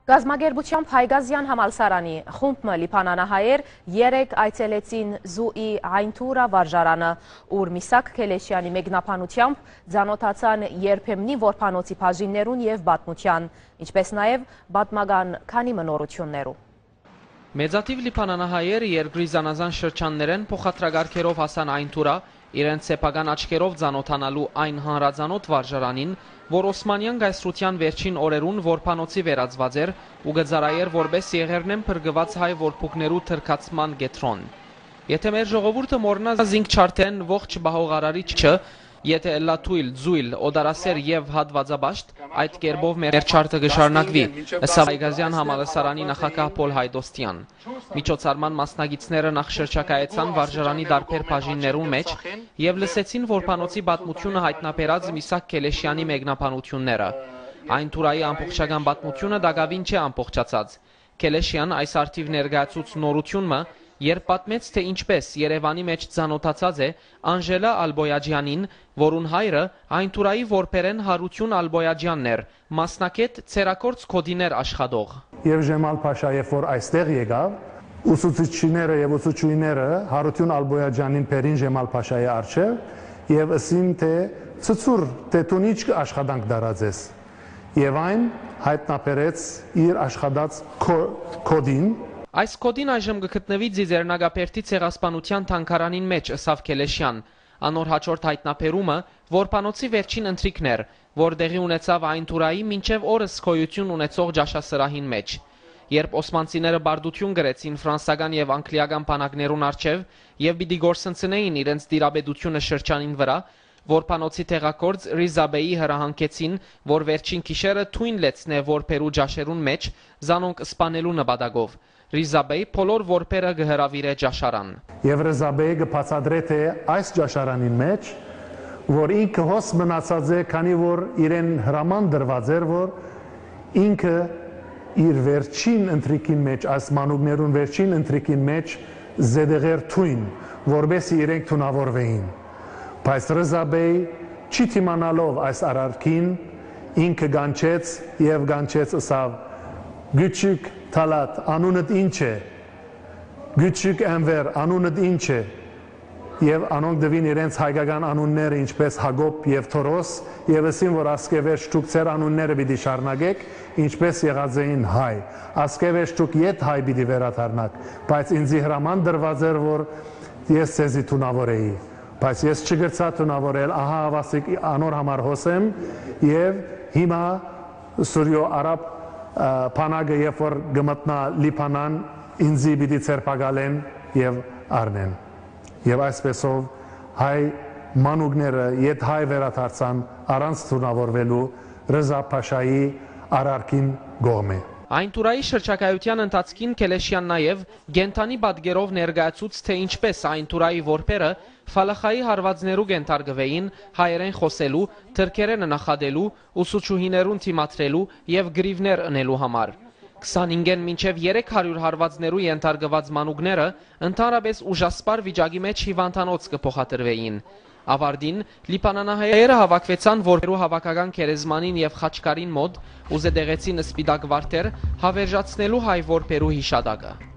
Գազագերբությամբ Հայգազյան համալսարանի խումբը լիբանանահայեր երեկ այցելեցին Զուի Այնթուրա վարժարանը, ուր Միսակ Քելեշյանի մեկնաբանությամբ ծանոթացան երբեմնի որբանոցի բաժիններուն և պատմության, ինչպես նաև պատմական քանի մնորություններու։ Մեծաթիվ լիբանանահայեր երկրի զանազան շրջաններեն փոխադրագարկերով հասան Այնթուրա, իրենց սեփական աչքերով ծանոթանալու այն հանրազանոթ վարժարանին, որ Օսմանյան գայսրության վերջին օրերուն որբանոցի վերածված էր ու գծարայեր որպես եղերնեն փրկված հայ որբուկներու թրքացման գետրոն։ Եթե մեր ժողովուրդը մոռնա զինք չարթեն ողջ բահողարարիչը, եթե ըլլա թույլ, ձույլ, օդարասեր և հատվածաբաշտ, այդ կերպով մեր չարտը գշարնակվի, ըսավ Հայգազյան համալսարանի նախագահ Պոլ Հայդոստյան։ Միջոցառման մասնագետները նախ շրջակայեցան վարժարանի դարբեր բաժիններուն մեջ և լսեցին որբանոցի պատմությունը հայտնաբերած Միսակ Քելեշյանի մեկնաբանությունները։ Այնթուրայի ամբողջական պատմությունը դակավին չէ ամբողջացած։ Քելեշյան այս արդիվ ներկայացուց նորությունը, երբ պատմեց, թե ինչպես Երևանի մեջ ծանոթացած է Անժելա Ալբոյաջյանին, որուն հայրը Այնթուրայի որբերեն Հարություն Ալբոյաջյանն էր, մասնակետ ցերակորց կոդիներ աշխատող։ Եվ Ժեմալ Փաշա, երբ որ այստեղ եկավ, ուսուցիչները եւ ուսուցչուհիները Հարություն Ալբոյաջյանին բերին Ժեմալ Փաշայի առջև եւ ասին, թե ցծուր, թե դու ինչ աշխատանք դարածես։ Եվ այն հայտնաբերեց իր աշխատած կոդին։ Այս կոդին այժմ գտնվի Ձիձեռնագապերտի ցեղասպանության թանգարանին մեջ, ըսավ Քելեշյան։ Անոր հաջորդ հայտնաբերումը որբանոցի վերջին ընթրիքն էր, որ տեղի ունեցավ Այնթուրայի մինչև օրս գոյություն ունեցող ճաշասրահին մեջ։ Երբ օսմանցիները բարդություն գրեցին ֆրանսական եւ անգլիական բանակներուն առջև եւ պիտի գործընծնեին իրենց դիրաբեդությունը շրջանին վրա, որբանոցի տեղակորձ Ռիզաբեի հրահանգեցին, որ վերջին գիշերը թույն լեցնե որբերու ճաշերուն մեջ զանոնք սպանելու նպատակով։ Ռիզաբեի բոլոր որբերը գհրավիրե ճաշարան։ Եվ Ռիզաբեի կբացատրե, թե այս ճաշարանին մեջ, որ ինքը հոս մնացած է, քանի որ իրեն հրաման դրված էր, որ ինքը իր վերջին ընթրիկին մեջ, այս մանուկներուն վերջին ընթրիկին մեջ զեդեղեր թույն, որբեսի իրենք թունավորվեին։ Բայց Ռիզաբեի չի թիմանալով այս արարքին, ինքը գանչեց և գանչեց ըսավ Գյուչիկ Թալատ, անունդ ինչ է, Գյուչիկ Էնվեր, անունդ ինչ է, և անոնք դվին իրենց հայկական անունները, ինչպես Հակոբ և Թորոս, և ասին, որ ասկևեր շտուկ ծեր անունները պիտի շարնագեք, ինչպես եղած էին հայ, ասկևեր շտուկ ետ հայ պիտի վերաթարնակ, բայց ինձի հրաման դրված էր, որ ես ձեզի թունավոր էի, բայց ես չգրցա թունավորել, ահա ավասիկ անոր համար հոսեմ, և հիմա Սուրյո արաբ Փանագը, երբ որ գմտնա Լիբանան, ինձի պիտի ցերպակալեն եւ առնեն։ Եվ այսպեսով հայ մանուկները ետ հայ վերադարձան առանց թունավորվելու Ռզա Փաշայի արարքին կողմէ։ Այնթուրայի շրջակայության ընթացքին Քելեշյան նաև գենթանի պատկերով ներկայացուց, թե ինչպես Այնթուրայի որբերը Ֆալախայի հարվածներու կենթարկվեին հայերեն խոսելու, թրքերեն նախադելու, ուսուցչուհիներուն թիմադրելու և գրիվներ ընելու համար։ 25-ին մինչև 300 հարվածներու ենթարկված մանուկները ընդհանրապես ուժասպար վիճակի մեջ հիվանդանոց կփոխադրվեին։ Ավարտին լիբանանահայերը հավաքվեցան որբերու հավաքական քերեզմանին և խաչկարին մոտ ու զետեղեցին սպիտակ վարդեր հավերժացնելու հայ որբերու հիշատակը։